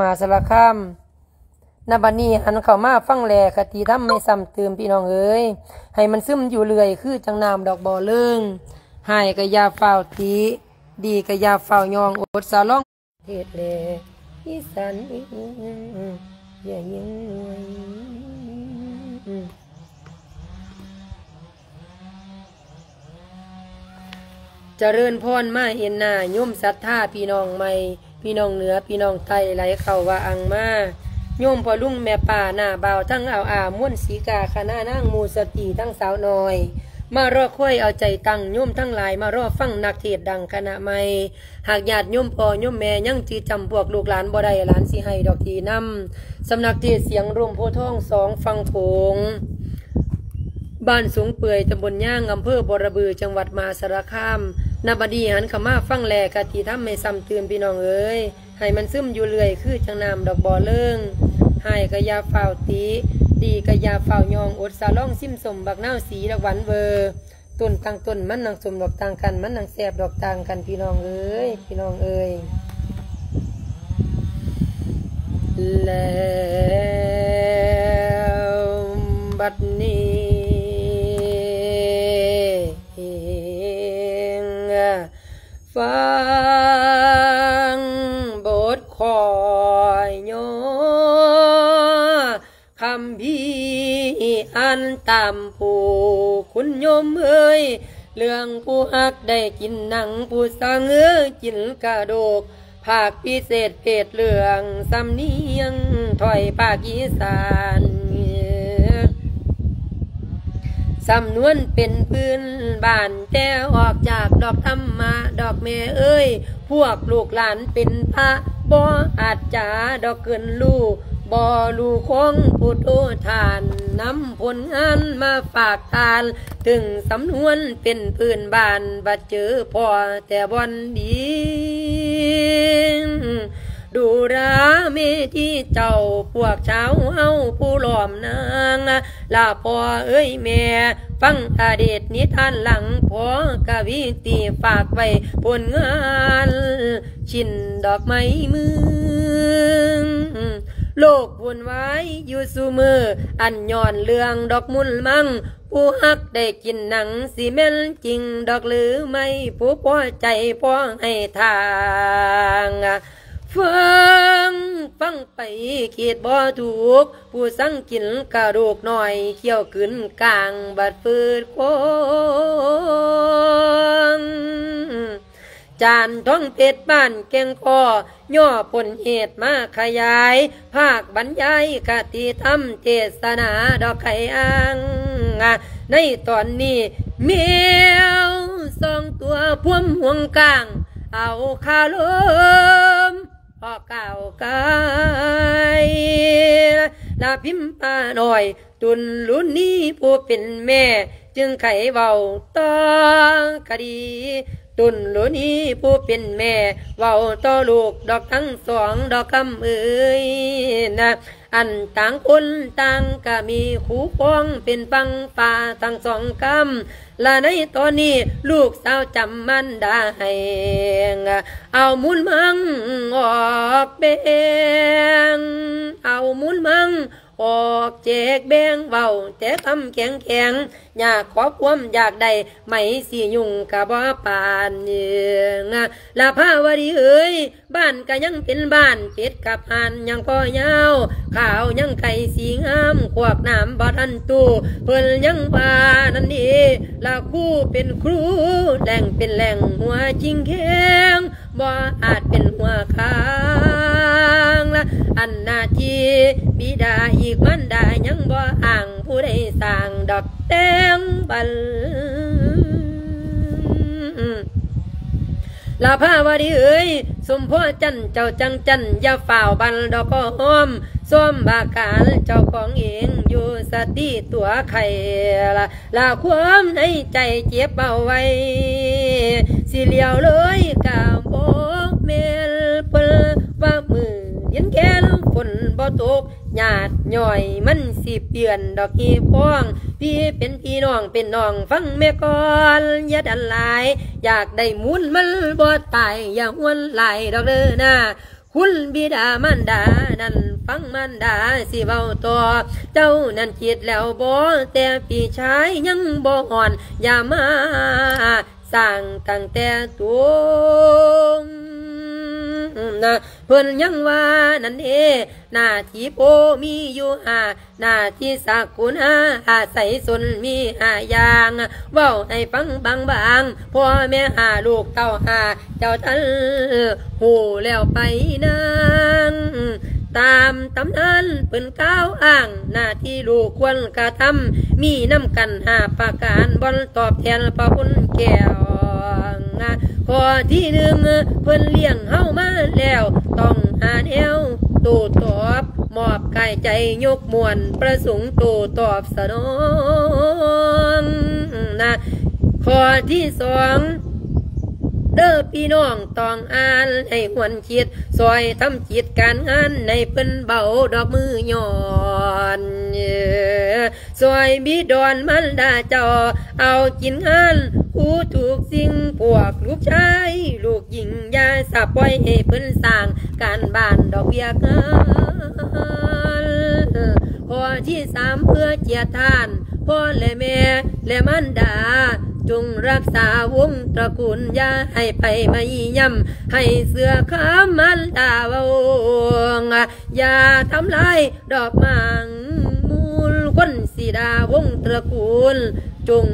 ມະຫາສາລະຄາມ. ນະບັດນີ້ຫັນເຂົ້າມາຟັງແລ ຄະຕິທຳໃຫ້ຊ້ຳຕື່ມ ພີ່ນ້ອງເອີຍ, ໃຫ້ມັນຊຶມຢູ່ເລື້ອຍ ຄືຈັ່ງນ້ຳດອກບໍ່ເລີງ. ຮ້າຍກະຢ່າຟ້າວຕິ, ດີກະຢ່າຟ້າວຍ້ອງ, ອົດສາລອງ ເທດແລ ອີສານເອີຍ ຢ່າຍິງງວຍ. ຈະເລີນພອນມາເຫັນໜ້າໂຍມສັດທາ ພີ່ນ້ອງໃໝ່ ພີ່ນ້ອງເໜືອ ພີ່ນ້ອງໃຕ້ ໄຫຼເຂົ້າວ່າອັ່ງມາ. ໂຍມພໍ່ລຸງແມ່ປ້າ ນ້າບ່າວທັງອາວອາ ມວນສີກາ ຄະນະນາງໝູ່ສະຕີ ທັງສາວນ້ອຍ ມາລໍຄອຍເອົາໃຈຕັ້ງ. ໂຍມທັງຫຼາຍມາລໍຟັງນັກເທດດັງຄະນະໃໝ່. ຫາກຍາດໂຍມພໍ່ໂຍມແມ່ຍັງຈື່ຈຳພວກລູກຫຼານບໍ່ໄດ້, ຫຼານຊິໃຫ້ດອກດີນຳ. ສຳນັກເທດສຽງລົມໂພທອງ ສອງຝັ່ງໂຂງ, ບ້ານສົງເປື່ອຍ ຕຳບົນຍາງ ອຳເພີບໍລະບື ຈັງຫວັດມະຫາສາລະຄາມ. ນະບັດນີ້ຫັນເຂົ້າມາຟັງແລ ຄະຕິທຳໃຫ້ຊ້ຳຕື່ມ ພີ່ນ້ອງເອີຍ, ໃຫ້ມັນຊຶມຢູ່ເລື້ອຍ ຄືຈັ່ງນ້ຳດອກບໍ່ເລີງ. ຮ້າຍກະຢ່າຟ້າວຕິ, ດີກະຢ່າຟ້າວຍ້ອງ, ອົດສາລອງຊິມສົ້ມບັກນາວສີດອກຫວານເວີ. ຕົ້ນຕ່າງຕົ້ນມັນໜັງສົ້ມດອກຕ່າງກັນ, ມັນໜັງແຊບດອກຕ່າງກັນ ພີ່ນ້ອງເອີຍ, ພີ່ນ້ອງເອີຍ. ແລ້ວບັດນີ້ ຟັງບົດຂ້ອຍຍໍ ຄຳພີອ່ານຕາມຜູ້ຄຸນໂຍມເອີຍ, ເລື່ອງຜູ້ຮັກໄດ້ກິນໜັງ, ຜູ້ສັງເອີຍກິນກະດູກ, ພາກພິເສດເພດເລື່ອງສຳນຽງ ຖ້ອຍພາກອີສານ. ສຳນວນເປັນພື້ນບ້ານ, ແຕ່ອອກຈາກດອກທຳມະດອກແມ່ເອີຍ, ພວກລູກຫຼານເປັນພະບໍ່ອາດຈາດອກເກີນຮູ້, ບໍ່ຮູ້ຂອງຜູ້ໂຕທ່ານ, ນຳຜົນງານມາຝາກທ່ານ, ເຖິງສຳນວນເປັນພື້ນບ້ານ, ບັດເຈີພໍແຕ່ບ່ອນດີ. ດູລາເມທີເຈົ້າ ພວກຊາວເຮົາຜູ້ລ້ອມນາງ, ລະພໍ່ເອີຍແມ່ ຟັງອະດີດນິທານຫຼັງ, ພໍກະວີຕີຝາກໄວ້ຜົນງານ ຊິນດອກໄມ້ເມືອງ. ໂລກວຸ່ນວາຍຢູ່ຊຸມື້, ອັນຍ້ອນເລື່ອງດອກມຸນມັງ, ຜູ້ຮັກໄດ້ກິນໜັງ ຊິແມ່ນຈິງດອກຫຼືໄມ່, ຜູ້ພໍໃຈພໍໃຫ້ທາງ. ຟັງ ຟັງໄປຄິດບໍ່ຖືກ, ຜູ້ສັງກິນກະດູກນ້ອຍ, ຂ້ຽວກືນກາງບັດຟືດຄວາງ. ຈານທອງເພັດບ້ານແກ່ງຄໍ, ຍໍຜົນເຫດມາຂະຫຍາຍ, ພາກບັນຍາຍຄະຕິທຳເທດສະໜາດອກໄຂ່ອ່າງ. ໃນຕອນນີ້ ແມວສອງຕົວພວມຫ່ວງກາງ, ເອົາຄາລົມອອກກ້າວກາຍ, ລະພິມປ້ານ້ອຍ ຕຸນລຸນີຜູ້ເປັນແມ່ ຈຶ່ງໄຂເວົ້າຕໍ່ຄະດີ, ຕຸນລຸນີຜູ້ເປັນແມ່ ເວົ້າຕໍ່ລູກດອກທັງສອງດອກຄຳເອີຍນະ. ອັນຕ່າງຄົນຕ່າງກະມີຄູ່ຄອງ ເປັນຝັ່ງຟ້າທັງສອງຄຳ, ລະໃນຕອນນີ້ ລູກສາວຈຳມານດາໃຫ້, ເອົາມູນມັງອອກແບ່ງ, ເອົາມູນມັງ ອອກແຈກແບ່ງ ເວົ້າແຕ່ຄຳແຂງໆ, ຢາກຂໍຄວາມຢາກໄດ້ ໄໝສີຍຸງກະບໍ່ປານ. ລະພາວະດີເອີຍ ບ້ານກະຍັງເປັນບ້ານ, ເປັດກັບຫ່ານຍັງພໍຍາວ, ຂາວຍັງໄກ່ສີງາມ, ຄວາກນ້ຳບໍ່ທັນຕູ້, ເພິ່ນຍັງວ່ານັ້ນເດ ລະຄູເປັນຄູ, ແຫຼ່ງເປັນແຫຼ່ງ ຫົວຈິງແຂງ ບໍ່ອາດເປັນຫົວຂ້າງລະ. ອັນໜ້າທີ່ບິດາອີກມານດາຍັງບໍ່ອ້າງ, ຜູ້ໃດສ້າງດອກແຕ່ງບັນ. ລະພາວະດີເອີຍ ສົມພໍຈັນເຈົ້າຈັງຈັນ, ຢ່າຟ້າວບັນດອກກໍຫອມ, ຊອມບາການເຈົ້າຂອງເອງ ຢູ່ສະຕິຕົວໄຂ່ລະ. ລະຄວາມໃນໃຈເກັບເອົາໄວ້ ຊິຫຼຽວເລີຍກະບໍ່ແມ່ນ. ເພິ່ນວ່າມື້ເຢັນແກ່ນຝົນບໍ່ຕົກ, ຍາດຍ້ອຍມັນຊິປ່ຽນດອກຮີບພອງ. ພີ່ເປັນພີ່ ນ້ອງເປັນນ້ອງ ຟັງແມ່ກ່ອນ ຢ່າດັນຫຼາຍ. ຢາກໄດ້ມູນມັນບໍ່ຕາຍ ຢ່າຫວນຫຼາຍດອກເດີນາ. ຄຸນບິດາມານດານັ້ນ ຟັງມານດາຊິເວົ້າຕໍ່. ເຈົ້ານັ້ນຄິດແລ້ວບໍ່? ແຕ່ພີ່ຊາຍຍັງບໍ່ຮອດ ຢ່າມາສ້າງຕັ້ງແຕ່ຕົວນະ. ເພິ່ນຍັງວ່ານັ້ນເດ ໜ້າທີ່ພໍ່ມີຢູ່ຫ້າ ໜ້າທີ່ສັກກຸນາອາໄສຊົນມີຫ້າຢ່າງ ເວົ້າໃຫ້ຟັງບາງໆ ພໍ່ແມ່ຫ້າ ລູກເຕົ້າຫ້າ ເຈົ້າທັນຮູ້ແລ້ວໄປນາງ. ຕາມຕຳນານເພິ່ນກ່າວອ້າງ ໜ້າທີ່ລູກຄວນກະທຳ ມີນຳກັນຫ້າປະການ ບ່ອນຕອບແທນພະຄຸນແກ້ວ. ຂໍ້ທີໜຶ່ງ ເພິ່ນລ້ຽງເຮົາມາແລ້ວ ຕ້ອງຫາແນວໂຕ້ຕອບ ມອບກາຍໃຈຍົກມ້ວນ ປະສົງໂຕ້ຕອບສະໜອງນະ. ຂໍ້ທີສອງ ເດີພີ່ນ້ອງຕ້ອງອ່ານໃຫ້ຫວນຄິດ ຊ່ອຍທຳກິດການງານໃຫ້ເພິ່ນເບົາດອກມືຍ້ອນ. ຊ່ອຍບິດອນມານດາເຈົ້າເອົາກິນງານຄູ່ທຸກສິ່ງ ພວກລູກຊາຍລູກຍິງ ຢ່າສະປ່ອຍໃຫ້ເພິ່ນສ້າງການບ້ານດອກວຽກງານ. ຂໍ້ທີສາມ ເພື່ອຈຽດທານ ພໍ່ແລະແມ່ແລະມານດາ ຈົ່ງຮັກສາວົງຕະກູນ ຢ່າໃຫ້ໃຜມາຢ້ຽມ ໃຫ້ເຊື່ອຄຳມານດາເວົ້າ. ຢ່າທຳລາຍດອກໝາກມູນ ຄົນສີດາວົງຕະກູນ ຈົ່ງ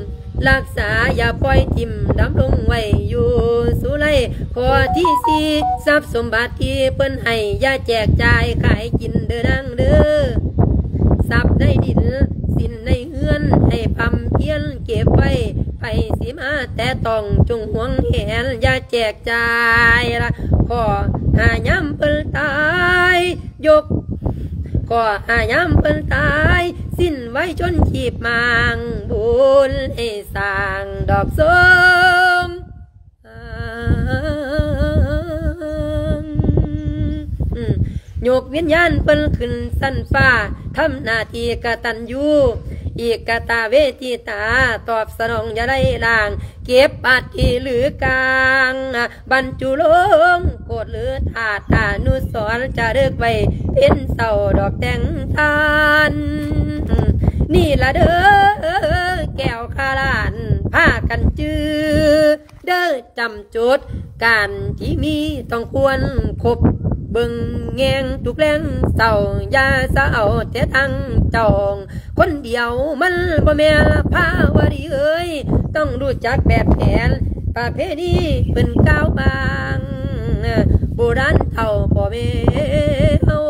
ຮັກສາ ຢ່າປ່ອຍຖິ້ມ ດຳລົງໄວ້ຢູ່ສຸໄລ. ຂໍ້ທີສີ່ ຊັບສົມບັດທີ່ເພິ່ນໃຫ້ ຢ່າແຈກຈ່າຍຂາຍກິນເດີນາງເດີ ຊັບໃນດິນສິນໃນເຮືອນ ໃຫ້ພຳພຽນເກັບໄວ້ ໃຜຊິມາແຕະຕ້ອງ ຈົ່ງຫວງແຫນ ຢ່າແຈກ ຈ່າຍລະ ຂໍຫາຍາມເພິ່ນຕາຍ ຍົກ ຂໍຫາຍາມເພິ່ນຕາຍ ສິ້ນໄວຊົນຊີບມາງ ບຸນໃຫ້ສ້າງດອກສົງ ຍົກວິນຍານເພິ່ນຂຶ້ນຊັ້ນຟ້າ ທຳໜ້າທີ່ກະຕັນຍູ ເອກະຕາເວທິຕາ ຕອບສະໜອງຢ່າໄດ້ລ້າງ ເກັບອັດຖິຫຼືກາງ ບັນຈຸລົງໂກດຫຼືທາດອະນຸສອນ ຈາລຶກໄວ້ເປັນເສົາດອກແຕ່ງທານ. ນີ້ລະເດີແກ້ວຂາລ້ານ ພາກັນຈື່ເດີ ຈຳຈຸດການທີ່ມີຕ້ອງຄວນຄົບ ເບິ່ງແຍງທຸກແລງເຊົ້າ ຢ່າສະເອົາແຕ່ທາງເຈົ້າ ຄົນດຽວມັນບໍ່ແມ່ນພາວະດີເອີຍ ຕ້ອງຮູ້ຈັກແບບແຜນປະເພນີເພິ່ນກ່າວບາງ ໂບລານເຖົ້າພໍ່ແມ່ເຮົາ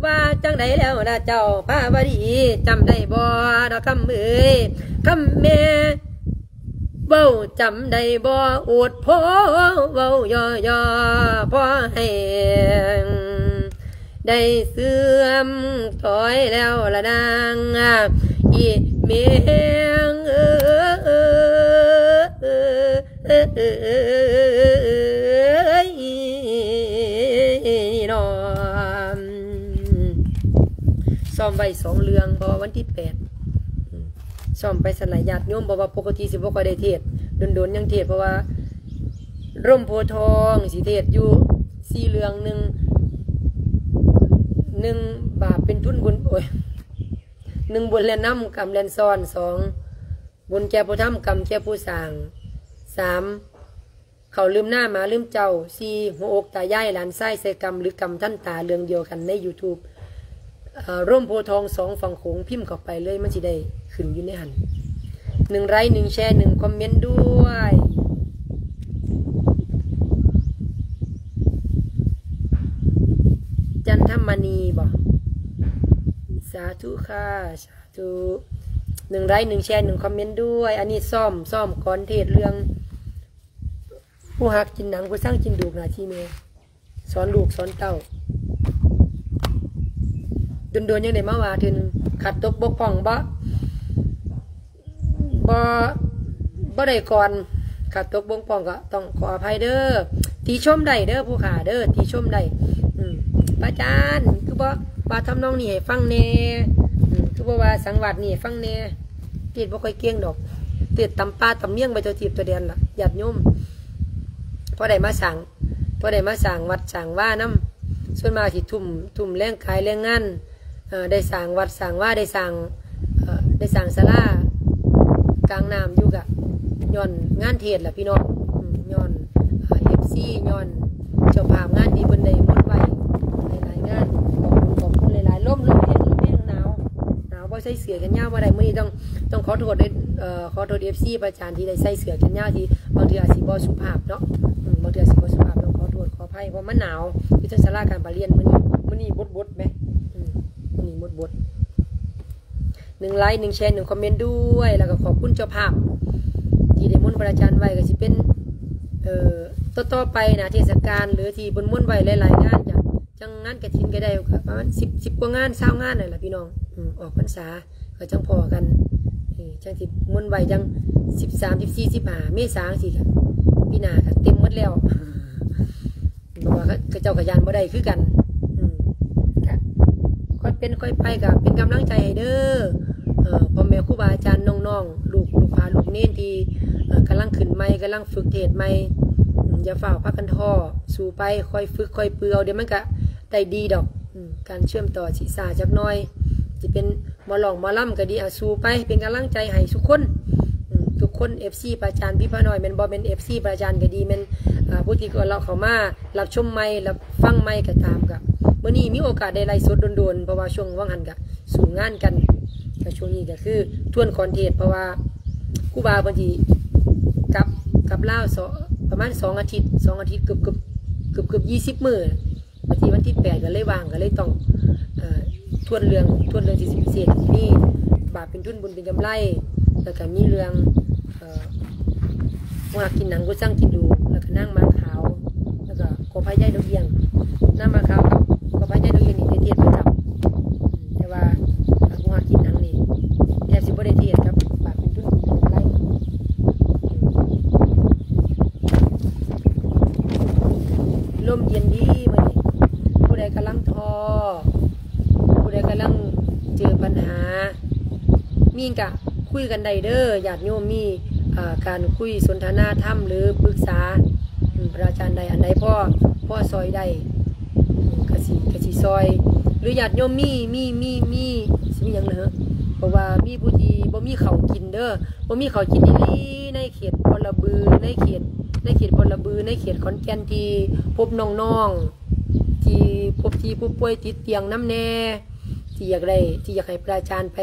ວ່າຈັ່ງໃດແລ້ວລະເຈົ້າພາວະດີ ຈຳໄດ້ບໍ່ດອກຄຳເອີຍ ຄຳແມ່ ເວົ້າຈຳໄດ້ບໍ່ ໂອດພໍເວົ້າຍໍໆ ພໍໃຫ້ໄດ້ເສື່ອມຖອຍແລ້ວລະນາງ ອີແມ່ເອີຍ ນີ້ເນາະ ຊ້ອມໄວ້ສອງເລື່ອງ ເພາະວ່າວັນທີແປດ ອືມ ຊ້ອມໄປຊັ້ນລະຍາດໂຍມ ເພາະວ່າປົກກະຕິຊິບໍ່ຄ່ອຍໄດ້ເທດ ດົນໆ ຍັງເທດ ເພາະວ່າລົມໂພທອງຊິເທດຢູ່ສີ່ເລື່ອງ ໜຶ່ງ ໜຶ່ງ ບາບເປັນທຶນບຸນ ໂອ້ຍ ໜຶ່ງ ບຸນແລ່ນນຳ ກຳແລ່ນຊ້ອນ ສອງ ບຸນແກ່ຜູ້ທຳ ກຳແກ່ຜູ້ສ້າງ ສາມ ເຂົ້າລືມໜ້າໝາລືມເຈົ້າ ສີ່ ຫົວອົກຕາຍາຍ ຫຼານຊາຍໃສ່ກຳ ຫຼື ກຳທັນຕາ ເລື່ອງດຽວກັນໃນຢູທູບ ເອີ ລົມໂພທອງສອງຝັ່ງໂຂງ ພິມເຂົ້າໄປເລີຍ ມັນຊິໄດ້ຂຶ້ນຢູ່ໃນຫັ້ນ ໜຶ່ງໄລຄ໌ ໜຶ່ງແຊຣ໌ ໜຶ່ງຄອມເມັນດ້ວຍ ຈັນທຳມະນີບໍ ສາທຸຄ່າ ສາທຸ ໜຶ່ງໄລຄ໌ ໜຶ່ງແຊຣ໌ ໜຶ່ງຄອມເມັນດ້ວຍ ອັນນີ້ຊ້ອມ ຊ້ອມກ່ອນເທດເລື່ອງ ຜູ້ຮັກກິນໜັງ ຜູ້ຊັງກິນດູກ ໜ້າທີ່ແມ່ ສອນລູກສອນເຕົ້າ ດົນໆ ຍັງໄດ້ມາວ່າເທື່ອໜຶ່ງ ຂາດຕົກບົກຜ່ອງບໍ່ ບໍ່ ບໍ່ໄດ້ກ່ອນ ຂາດຕົກບົກຜ່ອງກໍຕ້ອງຂໍອະໄພເດີ ຕິຊົມໄດ້ເດີຜູ້ຂ້າເດີ ຕິຊົມໄດ້ ອືມ ພະອາຈານ ຄືບໍ່ວ່າທຳນອງນີ້ໃຫ້ຟັງແດ່ ອືມ ຄືບໍ່ວ່າສັງວາດນີ້ໃຫ້ຟັງແດ່ ເທດບໍ່ຄ່ອຍເກັ່ງດອກ ເທດຕຳປ່າຕຳເມຽງໄປທົ່ວທີບທົ່ວແດນລະ ຍາດໂຍມ ພໍໄດ້ມາສ້າງ ບໍ່ໄດ້ມາສ້າງວັດສ້າງວານຳ. ສ່ວນມາກຊິທຸ່ມ ທຸ່ມແຮງກາຍແຮງງານ ເອີ ໄດ້ສ້າງວັດສ້າງວາ ໄດ້ສ້າງ ເອີ ໄດ້ສ້າງສາລາກາງນ້ຳຢູ່ ກະຍ້ອນງານເທດລະພີ່ນ້ອງ. ອືມ ຍ້ອນ ເອີ ເອັຟຊີ ຍ້ອນເຈົ້າພາບງານທີ່ເພິ່ນໄດ້ມົນໄວ້ຫຼາຍໆງານ. ຂອບຄຸນ ຂອບຄຸນຫຼາຍໆ. ລົມ ລົມແຮງ ລົມແຮງ ໜາວ ໜາວ ບໍ່ໃສ່ເສື້ອແຂນຍາວບໍ່ໄດ້. ມື້ນີ້ຕ້ອງ ຕ້ອງຂໍໂທດເດ້ ເອີ ຂໍໂທດເອັຟຊີພະອາຈານທີ່ໄດ້ໃສ່ເສື້ອແຂນຍາວ ທີ່ບາງເທື່ອອາດຊິບໍ່ສຸພາບເນາະ. ອືມ ບາງເທື່ອຊິບໍ່ສຸພາບ ຕ້ອງຂໍໂທດຂໍອະໄພ ເພາະມັນໜາວ ຢູ່ເທິງສາລາການປະລຽນມື້ນີ້. ມື້ນີ້ບົດໆແມະ ອືມ ມື້ນີ້ບົດໆ. ໜຶ່ງໄລຄ໌ ໜຶ່ງແຊຣ ໜຶ່ງຄອມເມັນດ້ວຍ ແລ້ວກໍຂອບຄຸນເຈົ້າພາບທີ່ໄດ້ມົນພະອາຈານໄວ້ ກໍຊິເປັນ ເອີ ຕໍ່ໆໄປນະ ເທດສະການ ຫຼືທີ່ເພິ່ນມົນໄວ້ຫຼາຍໆງານ ຈະ ຈັ່ງງານກະຖິນກໍໄດ້ປະມານສິບ ສິບກວ່າງານ ຊາວງານນັ້ນລະພີ່ນ້ອງ. ອືມ ອອກພັນສາກໍຈັ່ງພໍ້ກັນ ເອີ ຈັ່ງຊິມົນໄວ້ຈັ່ງສິບສາມ ສິບສີ່ ສິບຫ້າເມສາຈັ່ງຊີ້ ກະປີໜ້າກະເຕັມໝົດແລ້ວ. ເພາະວ່າເຂົາເຈົ້າກໍຢ້ານບໍ່ໄດ້ຄືກັນ. ອືມ ກະຄ່ອຍເປັນຄ່ອຍໄປ ກະເປັນກຳລັງໃຈໃຫ້ເດີ ເອີ ພໍ່ແມ່ຄູບາອາຈານ ນ້ອງໆ ລູກ ລູກພາລູກເນນທີ່ ເອີ ກຳລັງຂຶ້ນໃໝ່ ກຳລັງຝຶກເທດໃໝ່. ອືມ ຢ່າຟ້າວພາກັນທໍ້ ສູ້ໄປ ຄ່ອຍຝຶກຄ່ອຍຝຶກເອົາ ດຽວມັນກະໄດ້ດີດອກ. ອືມ ການເຊື່ອມຕໍ່ຊິຊ້າຈັກໜ້ອຍ ຊິເປັນ ໝໍຮ້ອງໝໍລຳກໍດີ ອາ ສູ້ໄປ ເປັນກຳລັງໃຈໃຫ້ທຸກຄົນ ອືມ ທຸກຄົນ ເອັຟຊີພະອາຈານ ພີ່ພະນ້ອຍ ແມ່ນບໍ່ແມ່ນ ເອັຟຊີພະອາຈານກໍດີ ແມ່ນ ອາ ຜູ້ທີ່ກໍເລາະເຂົ້າມາຮັບຊົມໃໝ່ ຮັບຟັງໃໝ່ກໍຕາມ. ກໍມື້ນີ້ມີໂອກາດໄດ້ໄລຟ໌ສົດດົນໆ ເພາະວ່າຊ່ວງຫວ່າງຫັ້ນກໍສູ້ງານກັນ ກໍຊ່ວງນີ້ກໍຄືທວນຄອນເທດ ເພາະວ່າຄູບາເພິ່ນຊິກັບ ກັບລາວ ສ- ປະມານສອງອາທິດ ສອງອາທິດ ເກືອບ ເກືອບ ເກືອບ ເກືອບ ຊາວມື້. ວັນທີ ວັນທີແປດກໍເລີຍວ່າງ ກໍເລີຍຕ້ອງ ເອີ ທວນເລື່ອງ ທວນເລື່ອງທີ່ຊິພິເສດ ມີບາບເປັນທຶນ ບຸນເປັນກຳໄລ ແລ້ວກໍມີເລື່ອງ ເອີ ຫົວຮັກກິນໜັງ ກຸຊັງກິນດູ ແລ້ວກໍນາງໝາກຂາວ ແລ້ວກໍກໍພະຍາຍດອກເອຍງ. ນາງໝາກຂາວກັບກໍພະຍາຍດອກເອຍງນີ້ໄດ້ເທດປະຈຳ ແຕ່ວ່າຫົວຮັກກິນໜັງນີ້ແທບຊິບໍ່ໄດ້ເທດກັບ ບາບເປັນທຶນ ບຸນເປັນກຳໄລ. ລົມເຢັນດີມື້ນີ້ ຜູ້ໃດກຳລັງທໍ້ ຜູ້ໃດກຳລັງເຈີບັນຫາ ມີຫຍັງກະຄຸຍກັນໄດ້ເດີ ຍາດໂຍມ ມີ ເອີ ການຄຸຍສົນທະນາທຳ ຫຼືປຶກສາ ອືມ ພະອາຈານໄດ້ ອັນໃດພໍ ພໍຊ່ອຍໄດ້ ອືມ ກະຊິ ກະຊິຊ່ອຍ ຫຼືຍາດໂຍມມີ ມີ ມີ ມີ ຊິມີຫຍັງເນາະ ເພາະວ່າມີຜູ້ທີ່ບໍ່ມີເຂົ້າກິນເດີ ບໍ່ມີເຂົ້າກິນອີ່ຫຼີ ໃນເຂດບໍລະບື ໃນເຂດ ໃນເຂດບໍລະບື ໃນເຂດຂອນແກ່ນ ທີ່ພົບນ້ອງໆ ທີ່ພົບທີ່ຜູ້ປ່ວຍຕິດຕຽງນຳແດ່ ທີ່ຢາກໄດ້ ທີ່ຢາກໃຫ້ພະອາຈານໄປ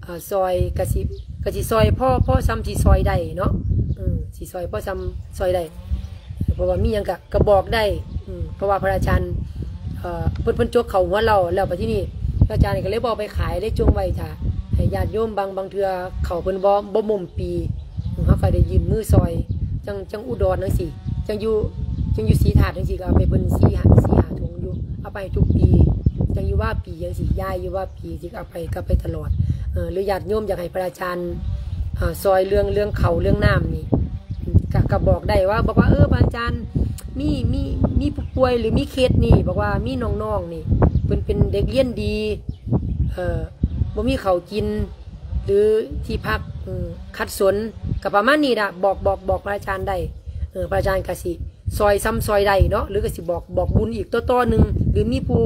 ເອີ ຊ່ອຍ ກະຊິ ກະຊິຊ່ອຍພໍ ພໍສ່ຳຊິຊ່ອຍໄດ້ເນາະ ເອີ ຊິຊ່ອຍພໍສ່ຳຊ່ອຍໄດ້ ເພາະວ່າມີຫຍັງກະ ກະບອກໄດ້ ອືມ ເພາະວ່າພະອາຈານ ເອີ ເພິ່ນ ເພິ່ນຈົກເຂົ້າຫົວເຫຼົ້າແລ້ວ ບັດທີນີ້ພະອາຈານກໍເລີຍບໍ່ເອົາໄປຂາຍ ເລີຍຈົ່ງໄວ້ຖ້າໃຫ້ຍາດໂຍມ. ບາງ ບາງເທື່ອເຂົ້າເພິ່ນບໍ່ ບໍ່ໝົມປີ ເຮົາກໍໄດ້ຍື່ນມືຊ່ອຍ ຈັ່ງ ຈັ່ງອຸດອນຈັ່ງຊີ້ ຈັ່ງຢູ່ ຈັ່ງຢູ່ສີທາດຈັ່ງຊີ້ ກໍເອົາໄປເພິ່ນສີ່ຫ້າ ສີ່ຫ້າຖົງຢູ່ ເອົາໄປທຸກປີ ຈັ່ງຢູ່ວາປີຈັ່ງຊີ້ ຍ້າຍຢູ່ວາປີ ຊິເອົາໄປ ກໍເອົາໄປຕະຫຼອດ ເອີ ຫຼືຍາດໂຍມຢາກໃຫ້ພະອາຈານ ເອີ ຊ່ອຍເລື່ອງ ເລື່ອງເຂົ້າເລື່ອງນ້ຳນີ້ ກະ ກະບອກໄດ້ວ່າ ບອກວ່າ ເອີ ພະອາຈານ ມີ ມີ ມີຜູ້ປ່ວຍ ຫຼືມີເຄສນີ້ ບອກວ່າມີນ້ອງໆນີ້ ເພິ່ນເປັນເດັກຮຽນດີ ເອີ ບໍ່ມີເຂົ້າກິນ ຫຼືທີ່ພັກ ອືມ ຂັດສົນ ກະປະມານນີ້ລະ ບອກ ບອກ ບອກພະອາຈານໄດ້ ເອີ ພະອາຈານກະຊິ ຊ່ອຍສ່ຳຊ່ອຍໄດ້ເນາະ ຫຼືກໍຊິບອກ ບອກບຸນອີກຕໍ່ໆໜຶ່ງ ຫຼືມີຜູ້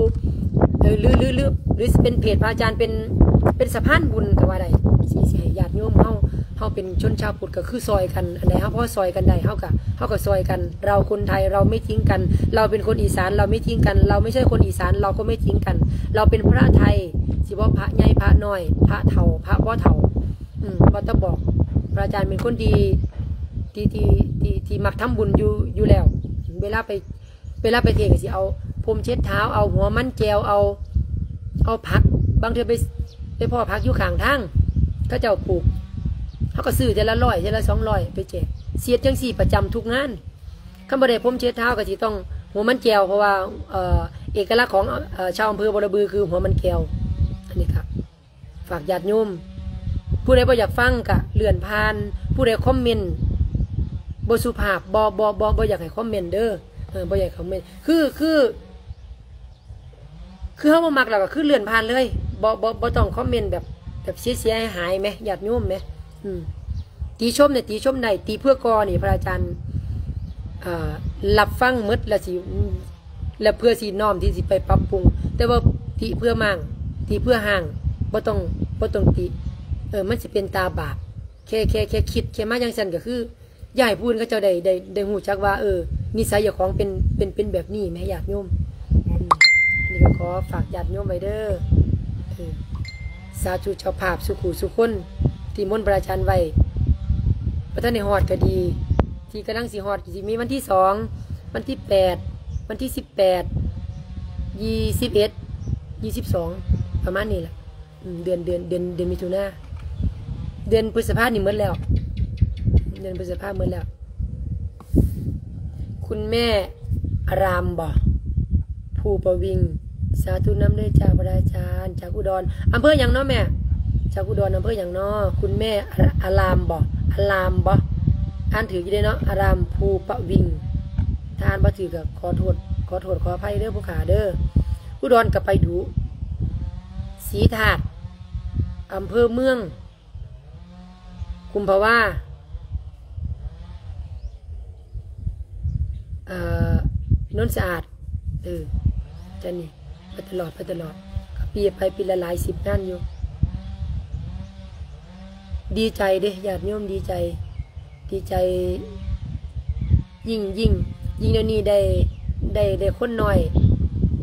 ເອີ ຫຼື ຫຼື ຫຼື ຫຼືຊິເປັນເພດພະອາຈານ ເປັນ ເປັນສະພານບຸນກໍວ່າໄດ້ ຊິ ຊິໃຫ້ຍາດໂຍມເຮົາ ເຮົາເປັນຊົນຊາວພຸດກໍຄືຊ່ອຍກັນ ອັນໃດເຮົາພໍຊ່ອຍກັນໄດ້ ເຮົາກໍ ເຮົາກໍຊ່ອຍກັນ ເຮົາຄົນໄທ ເຮົາໄມ່ຖິ້ມກັນ ເຮົາເປັນຄົນອີສານ ເຮົາໄມ່ຖິ້ມກັນ ເຮົາໄມ່ໃຊ່ຄົນອີສານ ເຮົາກໍໄມ່ຖິ້ມກັນ ເຮົາເປັນພະໄທ ຊິບໍ່ພະໃຫຍ່ພະນ້ອຍ ພະເຖົ້າ ພະບໍ່ເຖົ້າ ອືມ ວ່າແຕ່ບອກ ພະອາຈານເປັນຄົນທີ່ ທີ່ ທີ່ ທີ່ ທີ່ມັກທຳບຸນຢູ່ ຢູ່ແລ້ວ ເວລາໄປ ເວລາໄປເທດກໍຊິເອົາພົມເຊັດເທົ້າ ເອົາຫົວມັນແຈວ ເອົາ ເອົາຜັກ ບາງເທື່ອໄປ ໄປພໍ້ຜັກຢູ່ຂ້າງທາງ ເຂົາເຈົ້າປູກ ເຮົາກໍຊື້ເທື່ອລະຮ້ອຍ ເທື່ອລະສອງຮ້ອຍໄປແຈກ ຊິເຮັດຈັ່ງຊີ້ປະຈຳທຸກງານ ຄັນບໍ່ໄດ້ພົມເຊັດເທົ້າກໍຊິຕ້ອງຫົວມັນແຈວ ເພາະວ່າ ເອີ ເອກະລັກຂອງ ເອີ ຊາວອຳເພີບໍລະບືຄືຫົວມັນແຈວ ອັນນີ້ກໍ ຝາກຍາດໂຍມ ຜູ້ໃດບໍ່ຢາກຟັງກະເລື່ອນຜ່ານ ຜູ້ໃດຄອມເມັນບໍ່ສຸພາບ ບໍ່ ບໍ່ ບໍ່ ບໍ່ຢາກໃຫ້ຄອມເມັນເດີ ເອີ ບໍ່ຢາກໃຫ້ຄອມເມັນ ຄື ຄື ຄືເຮົາບໍ່ມັກແລ້ວກະຄືເລື່ອນຜ່ານເລີຍ ບໍ່ ບໍ່ ບໍ່ຕ້ອງຄອມເມັນແບບ ແບບເສຍໆຫາຍໆແມ ຍາດໂຍມແມ ອືມ ຕິຊົມນີ້ຕິຊົມໄດ້ ຕິເພື່ອກໍ່ນີ້ ພະອາຈານ ອ່າ ຮັບຟັງໝົດ ແລ້ວຊິ ແລ້ວເພື່ອຊິນ້ອມທີ່ຊິໄປປັບປຸງ. ແຕ່ວ່າຕິເພື່ອມ້າງ ຕິເພື່ອຮ້າງ ບໍ່ຕ້ອງ ບໍ່ຕ້ອງຕິ. ເອີ ມັນຊິເປັນຕາບາບ. ແຄ່ ແຄ່ ແຄ່ຄິດ ແຄ່ມາຈັ່ງຊັ້ນ ກໍຄື ຢາກໃຫ້ຜູ້ອື່ນເຂົາເຈົ້າໄດ້ ໄດ້ ໄດ້ຮູ້ຈັກວ່າ ເອີ ນິໄສເຈົ້າຂອງເປັນ ເປັນ ເປັນແບບນີ້ແໝ ຍາດໂຍມ. ອືມ ອັນນີ້ກໍຂໍຝາກຍາດໂຍມໄວ້ເດີ. ເອີ ສາທຸເຈົ້າພາບສູ່ຄູ່ສູ່ຄົນ ທີ່ມົນພະອາຈານໄວ້ ບໍ່ທັນໄດ້ຮອດກໍດີ ທີ່ກຳລັງຊິຮອດ ຊິມີວັນທີສອງ ວັນທີແປດ ວັນທີສິບແປດ ຊາວເອັດ ຊາວສອງ ປະມານນີ້ລະ. ອືມ ເດືອນ ເດືອນ ເດືອນ ເດືອນມິຖຸນາ ເດືອນພຶດສະພານີ້ໝົດແລ້ວ ເດືອນພຶດສະພາໝົດແລ້ວ. ຄຸນແມ່ອາຣາມບໍ? ພູປະວິງ ສາທຸນຳເດີ ຈາກພະອາຈານ ຈາກອຸດອນ. ອຳເພີຫຍັງເນາະແມ່? ຈາກອຸດອນ ອຳເພີຫຍັງເນາະ? ຄຸນແມ່ອາຣາມບໍ? ອາຣາມບໍ? ອ່ານຖືກຢູ່ເດ້ເນາະ ອາຣາມ ພູປະວິງ. ຖ້າອ່ານບໍ່ຖືກກໍຂໍໂທດ ຂໍໂທດຂໍອະໄພເດີຜູ້ຂ້າເດີ. ອຸດອນກໍໄປດຸ. ສີທາດ ອຳເພີເມືອງ ກຸມພະວາ ເອີ ໂນນສະອາດ. ເອີ ຈັ່ງນີ້ ໄປຕະຫຼອດ ໄປຕະຫຼອດ ກໍປີໄປ ປີລະຫຼາຍສິບງານຢູ່. ດີໃຈເດ້ ຍາດໂຍມ ດີໃຈ ດີໃຈ ຍິ່ງ ຍິ່ງ ຍິ່ງດຽວນີ້ໄດ້ ໄດ້ ໄດ້ຄົນໜ້ອຍ.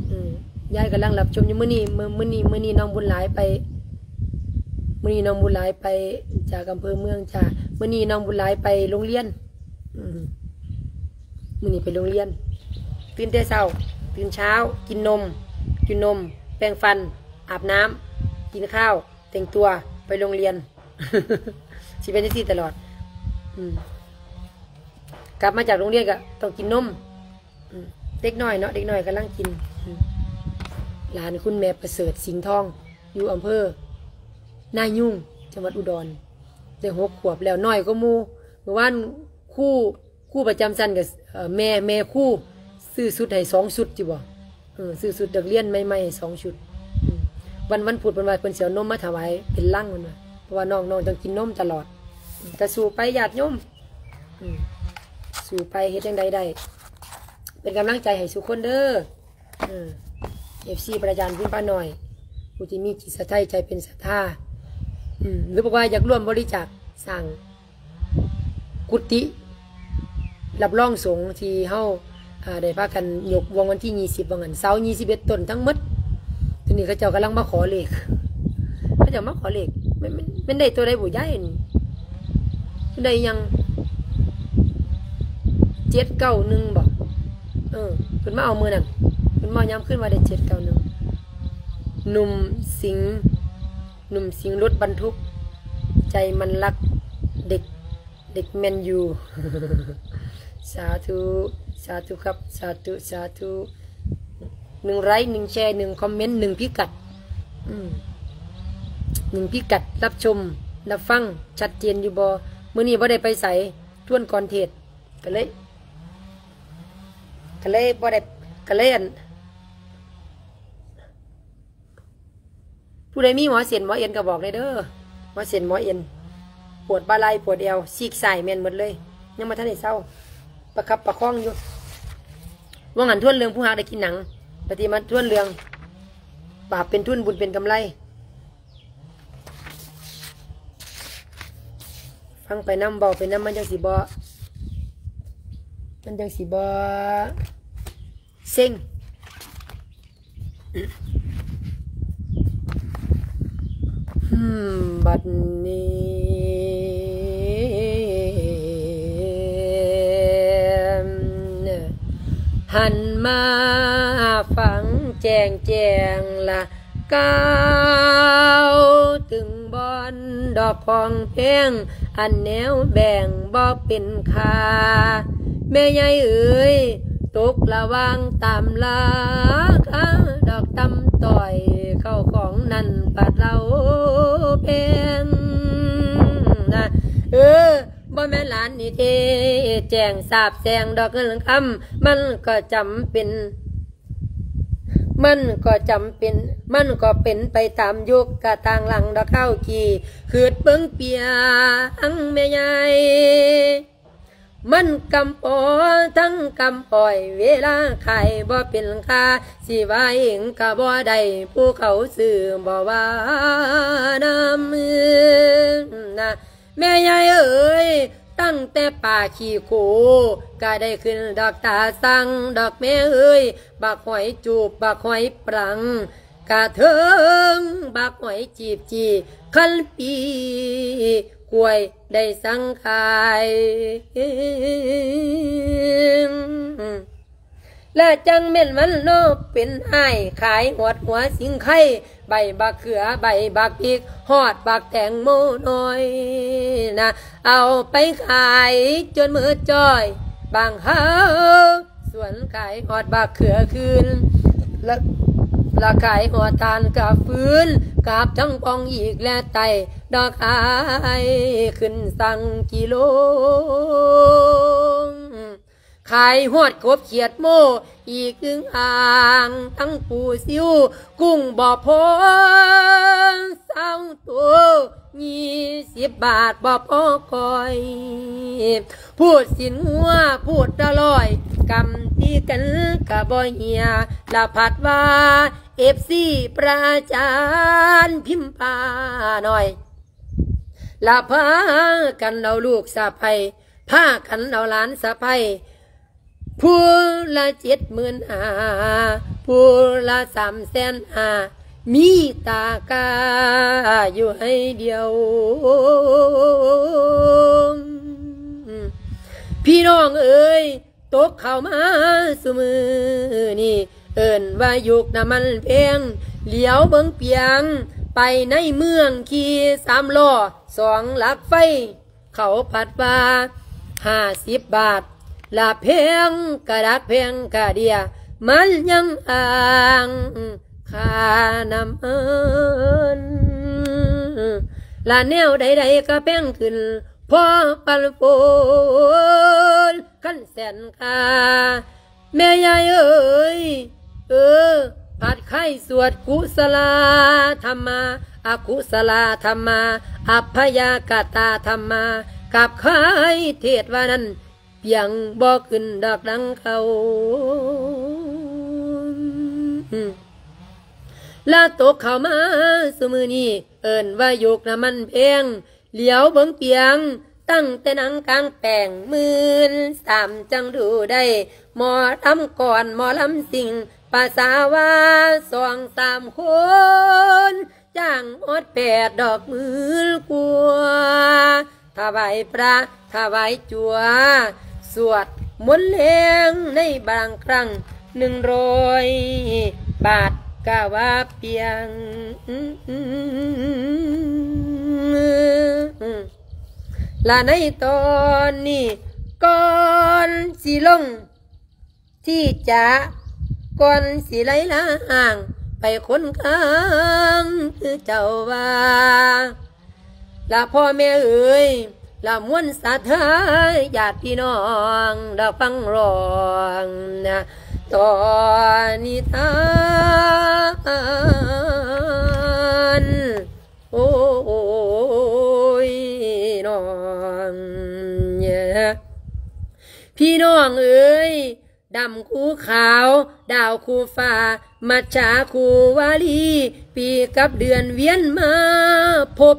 ອືມ ຍາຍກຳລັງຮັບຊົມຢູ່. ມື້ນີ້ ມື້ ມື້ນີ້ ມື້ນີ້ນ້ອງບຸນຫຼາຍໄປ ມື້ນີ້ນ້ອງບຸນຫຼາຍໄປ ຈາກອຳເພີເມືອງ. ຈ້າ ມື້ນີ້ນ້ອງບຸນຫຼາຍໄປໂຮງຮຽນ. ອືມ ມື້ນີ້ໄປໂຮງຮຽນ ຕື່ນແຕ່ເຊົ້າ ຕື່ນເຊົ້າ ກິນນົມ ກິນນົມ ແປງຟັນ ອາບນ້ຳ ກິນຂ້າວ ແຕ່ງຕົວ ໄປໂຮງຮຽນ. ຊິເປັນຈັ່ງຊີ້ຕະຫຼອດ. ອືມ ກັບມາຈາກໂຮງຮຽນກໍຕ້ອງກິນນົມ. ອືມ ເດັກນ້ອຍເນາະ ເດັກນ້ອຍກຳລັງກິນ. ອືມ ຫຼານຄຸນແມ່ປະເສີດ ສິງທອງ ຢູ່ອຳເພີນາຍຸງ ຈັງຫວັດອຸດອນ ໄດ້ຫົກຂວບແລ້ວ ນ້ອຍກວ່າໝູ່. ມື້ວານຄູ ຄູປະຈຳຊັ້ນກໍ ເອີ ແມ່ ແມ່ຄູຊື້ຊຸດໃຫ້ສອງຊຸດ ຈິບໍ່? ເອີ ຊື້ຊຸດນັກຮຽນໃໝ່ໆໃຫ້ສອງຊຸດ. ອືມ ວັນ ວັນພຸດເພິ່ນວ່າເພິ່ນຊິເອົານົມມາຖວາຍເປັນລັງ ເພິ່ນວ່າ ເພາະວ່ານ້ອງ ນ້ອງຕ້ອງກິນນົມຕະຫຼອດ. ອືມ ກໍສູ້ໄປຍາດໂຍມ. ອືມ ສູ້ໄປ ເຮັດຈັ່ງໃດໄດ້ ເປັນກຳລັງໃຈໃຫ້ສູ່ຄົນເດີ. ເອີ ເອັຟຊີ ພະອາຈານພິມພານ້ອຍ ຜູ້ທີ່ມີຈິດສະໄທໃຈເປັນສັດທາ ອືມ ຫຼືບອກວ່າຢາກຮ່ວມບໍລິຈາກສ້າງກຸຕິ ຮັບຮອງສົງທີ່ເຮົາ ອ່າ ໄດ້ພາກັນຍົກວັນທີຊາວ ວັນທີຊາວເອັດຕົ້ນທັງໝົດ. ທີນີ້ເຂົາເຈົ້າກຳລັງມາຂໍເລກ ເຂົາເຈົ້າມາຂໍເລກ ແມ່ນ ແມ່ນ ແມ່ນໄດ້ຕົວໃດບຸຍາຍນີ້? ໄດ້ຫຍັງ ເຈັດເກົ້າໜຶ່ງບໍ? ເອີ ເພິ່ນມາເອົາມື້ນັ້ນ ເພິ່ນມາເອົາຍາມຄືນວ່າໄດ້ເຈັດເກົ້າໜຶ່ງ. ໜຸ່ມສິງ ໜຸ່ມສິງລົດບັນທຸກ ໃຈມັນລັກເດັກ ເດັກແມນຢູ. ສາທຸ ສາທຸຄັບ ສາທຸ ສາທຸ. ໜຶ່ງໄລຄ໌ ໜຶ່ງແຊຣ ໜຶ່ງຄອມເມັນ ໜຶ່ງພິກັດ. ອືມ ໜຶ່ງພິກັດ ຮັບຊົມ ຮັບຟັງ ຊັດເຈນຢູ່ບໍ່? ມື້ນີ້ບໍ່ໄດ້ໄປໃສ ທວນກ່ອນເທດ ກໍເລີຍ ກໍເລີຍບໍ່ໄດ້ ກໍເລີຍ ອັນ ຜູ້ໃດມີໝໍເສັ້ນໝໍເອັນກໍບອກແດ່ເດີ ໝໍເສັ້ນໝໍເອັນ ປວດບ່າໄຫຼ່ ປວດແອວ ຊີກຊ້າຍແມ່ນໝົດເລີຍ ຍັງບໍ່ທັນໄດ້ເຊົາ ປະຄັບປະຄອງຢູ່. ວ່າງຫັ້ນທວນເລື່ອງຜູ້ຮັກໄດ້ກິນໜັງ ບັດນີ້ມາທວນເລື່ອງບາບເປັນທຶນ ບຸນເປັນກຳໄລ. ຟັງໄປນຳ ເວົ້າໄປນຳ ມັນຈັ່ງຊິບໍ່ ມັນຈັ່ງຊິບໍ່ເຊັງ. ອືມ ບັດນີ້ ຫັນມາຟັງແຈ້ງແຈ້ງລະ ກ່າວເຖິງບ່ອນດອກຂອງແພງ ອັນແນວແບ່ງບໍ່ເປັນຄ່າ. ແມ່ໃຫຍ່ເອີຍ ຕົກລະຫວ່າງຕາມລາຄາ ດອກຕ່ຳຕ້ອຍ ເຂົ້າຂອງນັ້ນປາດເລົ່າແພງນະ ເອີ ບໍ່ແມ່ນຫຼານນີ້ເທ ແຈ້ງສາບແຊ່ງດອກເງິນຄຳ ມັນກໍຈຳເປັນ ມັນກໍຈຳເປັນ ມັນກໍເປັນໄປຕາມຍຸກກະຕ່າງຫຼັງດອກຄາວກີ້ ຄຶດເບິ່ງປຽງແມ່ໃຫຍ່ ມັນກຳປໍທັງກຳອ້ອຍ ເວລາຂາຍບໍ່ເປັນຄ່າ ຊິວ່າເອງກໍບໍ່ໄດ້ ຜູ້ເຂົາຊື້ບໍ່ວ່ານຳນະ. ແມ່ຍາຍເອີຍ ຕັ້ງແຕ່ປາຂີ້ໂຄ ກໍໄດ້ຂຶ້ນດອກຕາສັງດອກແມ່ເອີຍ ບັກຫອຍຈູບ ບັກຫອຍປລັງ ກະເທິງບັກຫອຍຈີບຈີ່ ຄັນປີກລ້ວຍໄດ້ສັງຂາຍ ລະຈັ່ງແມ່ນມັນເນາະເປັນອ້າຍ ຂາຍຮອດຫົວສິງໄຄ ໃບບັກເຂືອ ໃບບັກພິກ ຮອດບັກແຕງໂມນ້ອຍນະ ເອົາໄປຂາຍຈົນໝົດຈ້ອຍ ບາງຫາ ສວນຂາຍຮອດບັກເຂືອຄືນ ລະ ລະຂາຍຮອດຖ່ານກະຟືນ ກັບທັງປ່ອງອີກແລະໄຕ້ ດອກອ້າຍຂຶ້ນສັງກິໂລ ຂາຍຮອດກົບຂຽດໂມ ອີກອຶ່ງອ່າງ ທັງປູຊິວ ກຸ້ງບໍ່ພໍ ຊາວໂຕ ຍີ່ສິບບາດບໍ່ພໍກ້ອຍ ພູດຊີ້ນງົວພູດລະຮ້ອຍ ກຳຕີກັນກະບໍ່ເຫຍ ລະພັດວ່າ ເອັຟຊີ ປະຈານພິມພ້ານ້ອຍ ລະພາກັນເອົາລູກສະໃພ້ ພາກັນເອົາຫຼານສະໃພ້ ຜູ້ລະເຈັດໝື່ນຫ້າ ຜູ້ລະສາມແສນຫ້າ ມີຕາກາຢູ່ໃຫ້ດຽວ. ພີ່ນ້ອງເອີຍ ຕົກເຂົ້າມາສູ່ມື້ນີ້ ເອີ້ນວ່າຍຸກນ້ຳມັນແພງ ຫຼຽວເບິ່ງປຽງ ໄປໃນເມືອງຂີ່ສາມລໍ້ ສອງຫຼັກໄຟ ເຂົາພັດວ່າຫ້າສິບບາດ ລະແພງກະດັກແພງກະເດຍ ມັນຍັງອ້າງຄ່ານ້ຳມັນ ລະແນວໃດໆກະແພງຂຶ້ນ ພໍປັນຝົນ ຄັນແສນຄ່າ ແມ່ຍາຍເອີຍ ເອີ ພັດຄາຍສວດກຸສະລາທຳມາ ອະກຸສະລາທຳມາ ອັບພະຍາກະຕາທຳມາ ກັບຄາຍເທດວ່ານັ້ນ ປຽງບໍ່ຂຶ້ນດອກດັງເກົ່າ ລະຕົກເຂົ້າມາສູ່ມື້ນີ້ ເອີ້ນວ່າຍຸກນ້ຳມັນແພງ ຫຼຽວເບິ່ງປຽງ ຕັ້ງແຕ່ນາງກາງແປ້ງ ໝື່ນສາມຈັ່ງດູໄດ້ ໝໍລຳກອນ ໝໍລຳຊິງ ປາສາວ່າສອງສາມຄົນ ຈ້າງຮອດແປດດອກໝື່ນກວ່າ ຖວາຍພະ ຖວາຍຈົວ ສວດມົນແລງໃນບາງຄັ້ງ ໜຶ່ງຮ້ອຍບາດກະວ່າປຽງ ລະໃນຕອນນີ້ ກ່ອນຊິລົງທີ່ຈະ ກ່ອນຊິໄຫຼລາຮ່າງໄປຄົນຂ້າງ ຄືເຈົ້າວ່າ ລະພໍ່ແມ່ເອີຍ ລະມວນສັດທາຍາດພີ່ນ້ອງ ດອກຟັງຮ້ອງນະ ຕໍ່ນິທານ ໂອ້ຍ ນ້ອງ ພີ່ນ້ອງເອີຍ ດຳຄູ່ຂາວ ດາວຄູ່ຟ້າ ມັດສາຄູ່ວາລີ ປີກັບເດືອນວຽນມາພົບ